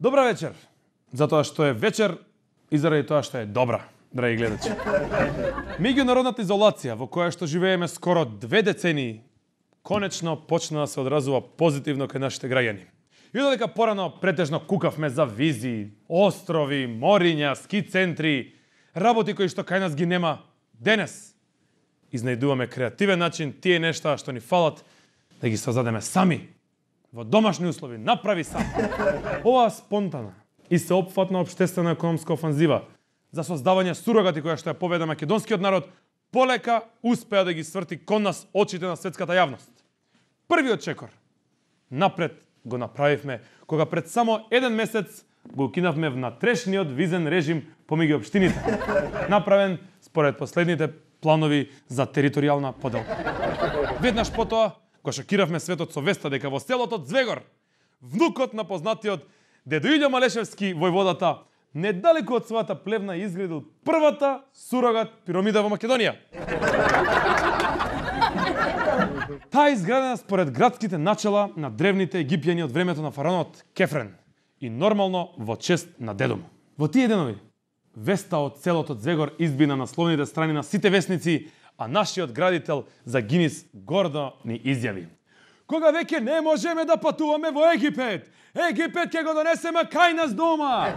Добра вечер, затоа што е вечер и заради тоа што е добра, драги гледачи. Меѓународната изолација во која што живееме скоро 2 децении, конечно почна да се одразува позитивно кај нашите граѓани. И додека порано претежно кукавме за визи, острови, мориња, ски центри, работи кои што кај нас ги нема, денес изнајдуваме креативен начин тие нешта што ни фалат да ги создадеме сами, во домашни услови, направи сам. Оваа спонтана и сеопфатна општествена економска офанзива за создавање сурогати која што ја победа македонскиот народ, полека успеа да ги сврти кон нас очите на светската јавност. Првиот чекор напред го направивме кога пред само 1 месец го укинавме внатрешниот визен режим помеѓу општините, направен според последните планови за територијална поделка. Веднаш потоа го шокиравме светот со веста дека во селото Звегор, внукот на познатиот дедо Илјо Малешевски војводата, недалеку од својата плевна изградил првата сурогат пирамида во Македонија. Таа изградена според градските начала на древните египјани од времето на фараонот Кефрен и нормално во чест на дедо му. Во тие денови веста од селото Звегор изби на насловните страни на сите весници, а нашиот градител за Гинис гордо ни изјави: кога веќе не можеме да патуваме во Египет, Египет ќе го донесеме кај нас дома.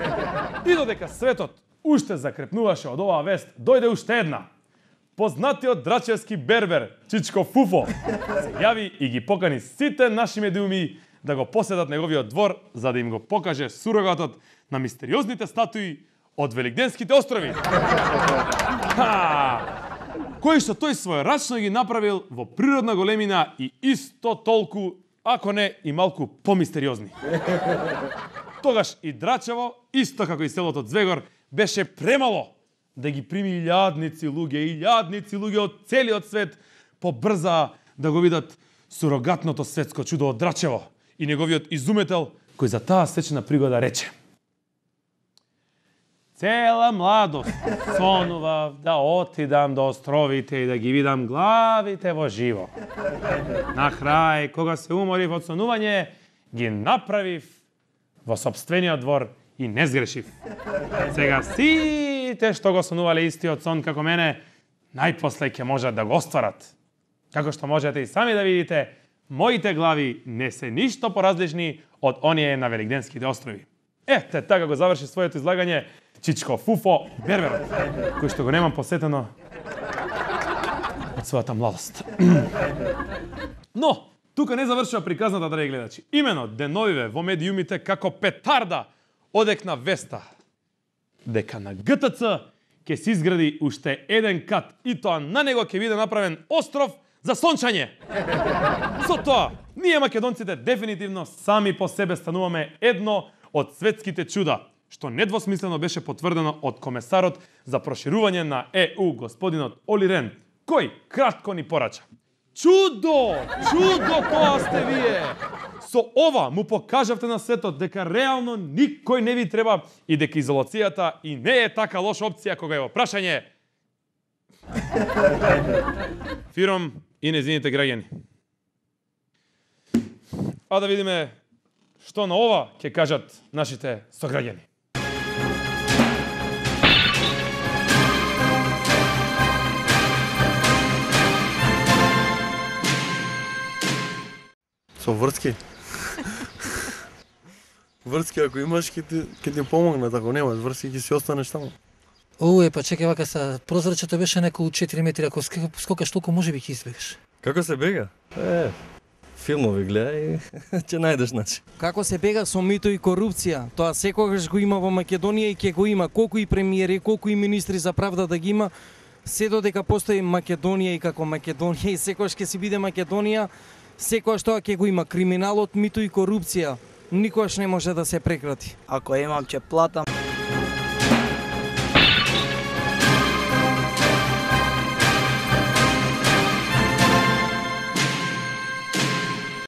И додека светот уште закрепнуваше од оваа вест, дојде уште една. Познатиот драчевски бербер Чичко Фуфо се јави и ги покани сите наши медиуми да го посетат неговиот двор за да им го покаже сурогатот на мистериозните статуи од Великденските острови. Кои што тој својрачно ги направил во природна големина и исто толку, ако не и малку помистериозни. Тогаш и Драчево, исто како и селото Звегор, беше премало да ги прими илјадници луѓе од целиот свет побрза да го видат сурогатното светско чудо од Драчево и неговиот изуметел кој за таа сечна пригода рече: цела младост сонував да отидам до островите и да ги видам главите во живо. На крај, кога се уморив од сонување, ги направив во сопствениот двор и не сгрешив. Сега сите што го сонувале истиот сон како мене, најпосле ќе можат да го остварат. Како што можете и сами да видите, моите глави не се ништо поразлични од оние на Великденските острови. Ете, така го заврши своето излагање Чичко Фуфо берберот, кој што го немам посетено од својата младост. Но, тука не завршува приказната, драги гледачи. Имено, деновиве во медиумите како петарда одекна веста дека на ГТЦ ќе се изгради уште 1 кат и тоа на него ќе биде направен остров за сончање. Со тоа, ние македонците дефинитивно сами по себе стануваме едно од светските чуда, што недвосмислено беше потврдено од комесарот за проширување на ЕУ, господинот Оли Рен, кој кратко ни порача: чудо тоа сте вие! Со ова му покажавте на светот дека реално никој не ви треба и дека изолацијата и не е така лоша опција кога е во прашање Фиром и незините граѓани. А да видиме што на ова ќе кажат нашите сограѓани. Со врски. Врски ако имаш ќе ти помогнат, ако немаш врски ќе си останеш таму. Па чекај вака са, прозрачето беше неколку 4 метри, ако скокаш толку може би ќе избегаш. Како се бега? Филмови гледај, ќе најдеш начин. Како се бега со мито и корупција? Тоа секогаш го има во Македонија и ќе го има, колку и премиери, колку и министри за правда да ги има, се додека постои Македонија и како Македонија и секогаш ќе си биде Македонија, секогаш тоа ќе го има. Криминалот, мито и корупција никогаш не може да се прекрати. Ако имам ќе платам.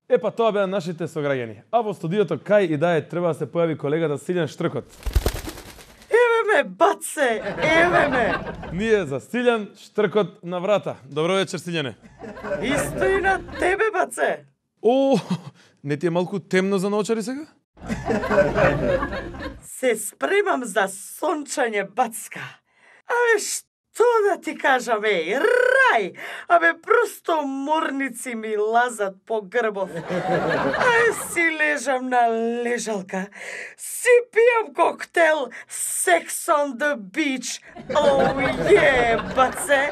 Епа тоа беа нашите сограѓани. А во студиото кај и да треба да се појави колегата Силјан Штркот. Еве ме, баце, еве ме! Ние за Силјан Штркот на врата. Добро вечер, Силјане. Исто и на тебе, баце! Не ти е малку темно за наочари сега? Се спремам за сончање, бацка. Абе, што да ти кажам, рај! Абе, просто морници ми лазат по грбов. Си лежам на лежалка, си пијам коктел Sex on the Beach. Баце!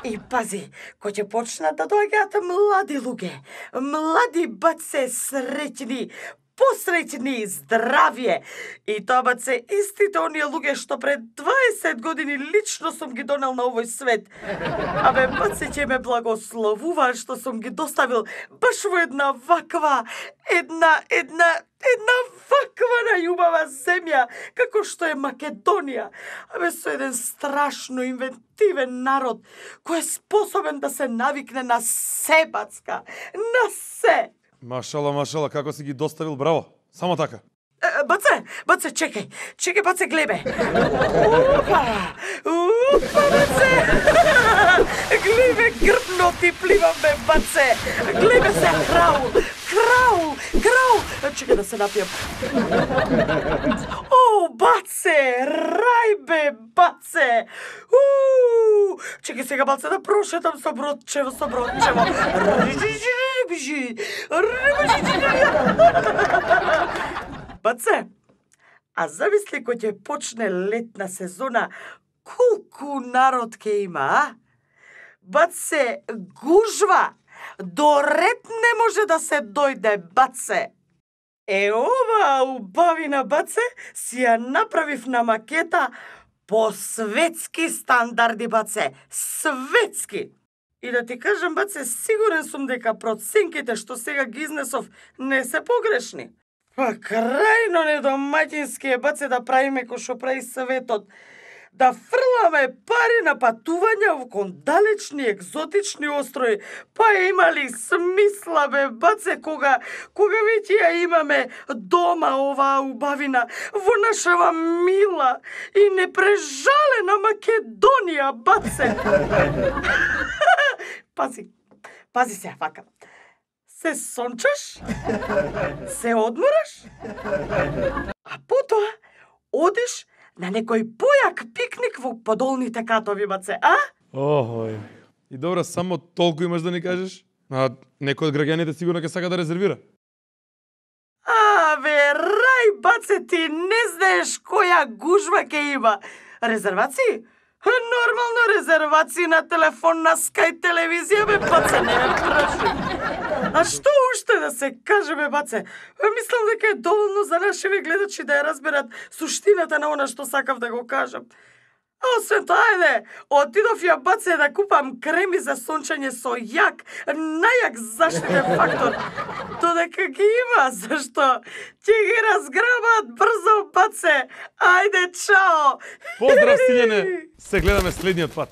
И пази, кој ќе почнат да доаѓаат млади луѓе, млади баце, среќни, посреќни, здравје. И тоа баце истите оние луѓе што пред 20 години лично сум ги донел на овој свет. Абе, баце, ќе ме благословуваат што сум ги доставил баш во една ваква ваква најубава земја, како што е Македонија. Абе, со еден страшно инвентивен народ, кој е способен да се навикне на се, бацка, на се. Машала, како си ги доставил, браво. Само така. Баце, чекај, баце, глебе. Опа, баце. Глебе, грбно ти пливам, бе, баце. Глебе се, краул. Чекај да се напијам. Баце, рај, бе, баце. Чекај сега, баце, да прошетам со бродчево. Баце, а замисли кој ќе почне летна сезона, колку народ ќе има, а? Баце, гужва, до ред не може да се дојде, баце. Ова убавина, баце, си ја направив на макета по светски стандарди, баце, светски. И да ти кажам, баце, сигурен сум дека проценките што сега ги изнесов не се погрешни. Па крајно недомаќински е, баце, да правиме кој што прави светот. Да фрламе пари на патувања кон далечни екзотични острови. Па има ли смисла, бе, баце, кога веќе ја имаме дома оваа убавина во нашава мила и непрежалена Македонија, баце. Пази се, вака. Се сончаш, се одмораш, а потоа одиш на некој појак пикник во подолните катови, баце, а? Охој. И добро, само толку имаш да ни кажеш? А некој од граѓаните сигурно ќе сака да резервира. Абе, рај, баце, ти не знаеш која гужва ќе има. Резервации? Нормално резервации на телефон, на Sky телевизија, бе, баце, не ме праши. А што уште да се каже, бе, баце? Мислам дека е доволно за нашиве гледачи да ја разберат суштината на она што сакав да го кажам. А освен тоа, ајде, отидов ја, баце, да купам креми за сончање со најак заштитен фактор. Додека ги има, зашто ќе ги разграбат брзо, баце. Ајде, чао! Поздрав, сињене! Се гледаме следниот пат.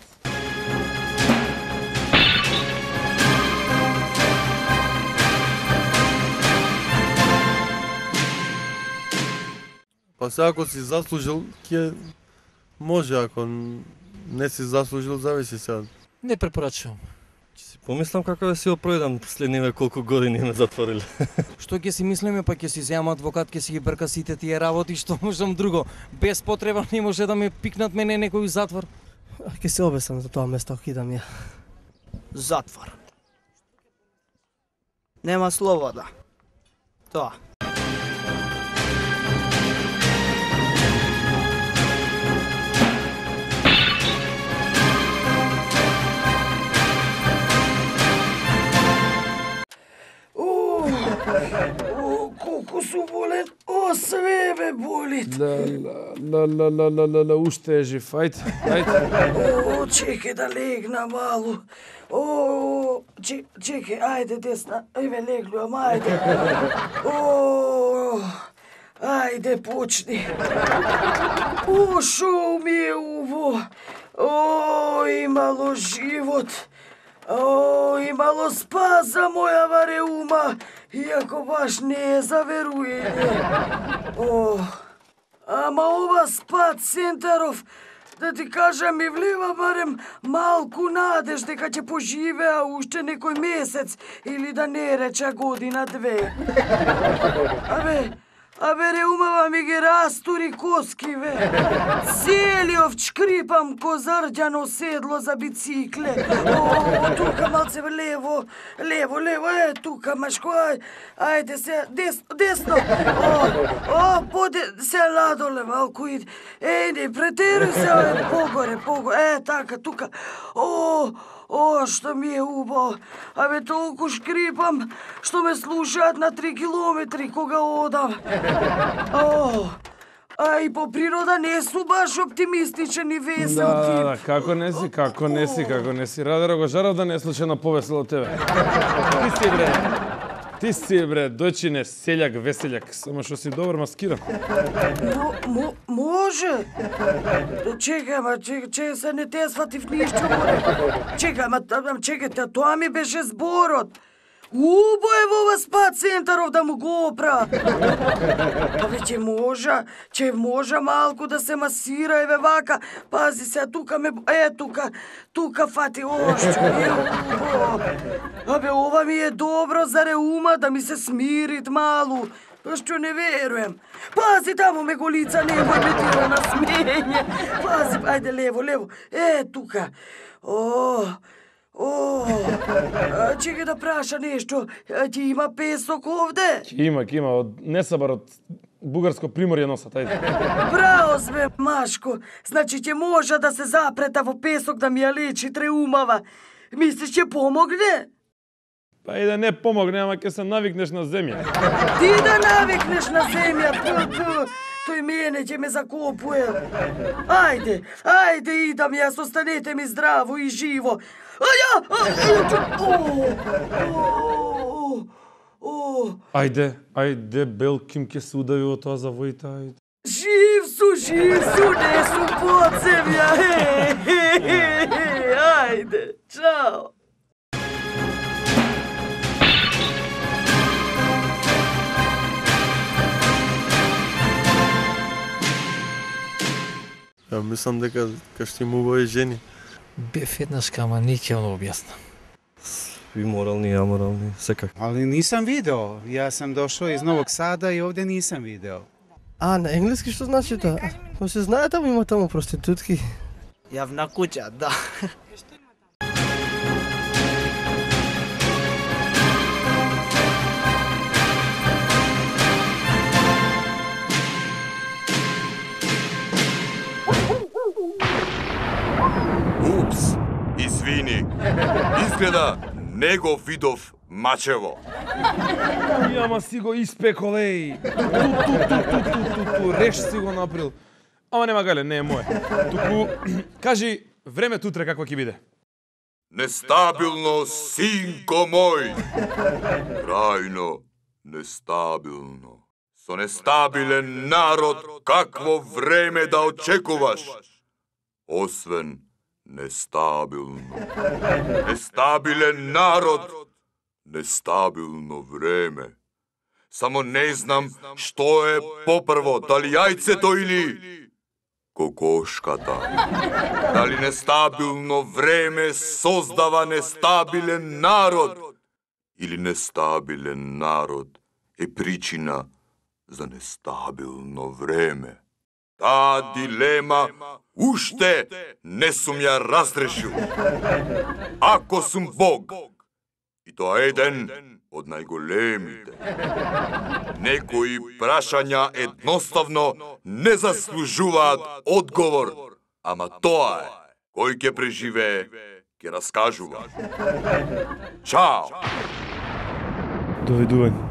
Па се ако си заслужил, ќе може, ако не си заслужил, зависи сега. Не препорачувам. Ќе си помислам како да си опројдам следниве колку години ме затвориле. Што ќе си мислиме, па ќе си земам адвокат, ќе си ги брка сите тие работи, што можам друго. Без потреба не може да ме пикнат мене некој затвор. Ќе се обесам за тоа место, кидам ја. Затвор. Нема слобода. Тоа. Колку су болен, све ме болит. Уште е жив, ајде. Чекај да легна малу. Чекај, ајде десна, еве леглувам, ајде. Ајде почни. Шо ми е уво. Имало живот. Имало спас за мојава реума, иако баш не е за веруење. Ама ова спа центаров, да ти кажам, ми влева барем малку надеж дека ќе поживеа уште некој месец или да не реча година-две. Абе, Абе, реумава ми ги растури коски, бе. Целиот шкрипам ко зарđано седло за бицикле. О, тука малце лево, тука, Машко, ајде се, десно. О, поде се надоле малку иди. Не претеруј се, погоре, така, тука. О, што ми е убаво. Абе, толку шкрипам, што ме слушаат на 3 километри кога одам. А и по природа не су баш оптимистичен и весел тип. Да, како не си. Радеро го жарав да не е случайно повесел од тебе. Ти си, бре, дојчине, селјак, веселјак, само што си добар маскиран. Може. Чекај, се не те сватив ништо, море. Чекајте, тоа ми беше зборот. Убо е во ова спа центаров да му го опра. Абе, ќе можа малку да се масира, еве вака. Пази се, тука тука фати ошчу, убо. Абе, ова ми е добро за реума да ми се смирит малу. Што не веруем. Пази, таму ме голица, немој ме тира на смење. Пази, ајде, лево. Тука. Чекај да праша нешто. Ти има песок овде? Ќе има, од Несабар, од Бугарско приморје носат, ајде. Браво сме, Машко. Значи ќе може да се запрета во песок да ми ја лечи треумава. Мислиш ќе помогне? Па и да не помогне, ама ќе се навикнеш на земја. Ти да навикнеш на земја, тој мене ќе ме закопуе. Ајде, идам јас, останете ми здраво и живо. Ајде, Белким ќе се удави од тоа завоите, ајде. Жив су, не су под земја. Ајде, чао. Ја мислам дека ќе му убави жени. Бев еднаш, ама не ќе го објаснам. И морални и аморални, секак. Ali nisam video. Ja sam došao iz Novog Sada i ovdje nisam video. А, на енглески што значи тоа? Ма се знае таму има таму проститутки. Јавна куќа, да. Упс, извини. Изгледа не го видов мачево. Ама си го испекол, еј. Реш си го направил. Ама нема гале, не е моје. Туку, кажи, времето утре какво ќе биде? Нестабилно, синко мој. Крајно нестабилно. Со нестабилен народ, какво време да очекуваш? Освен нестабилно. Нестабилен народ, нестабилно време. Само не знам што е попрво, дали јајцето или кокошката. Дали нестабилно време создава нестабилен народ или нестабилен народ е причина за нестабилно време. Таа дилема уште не сум ја разрешил. Ако сум Бог, и тоа еден од најголемите, некои прашања едноставно не заслужуваат одговор, ама тоа е, кој ќе преживее, ќе раскажува. Чао! Довидување.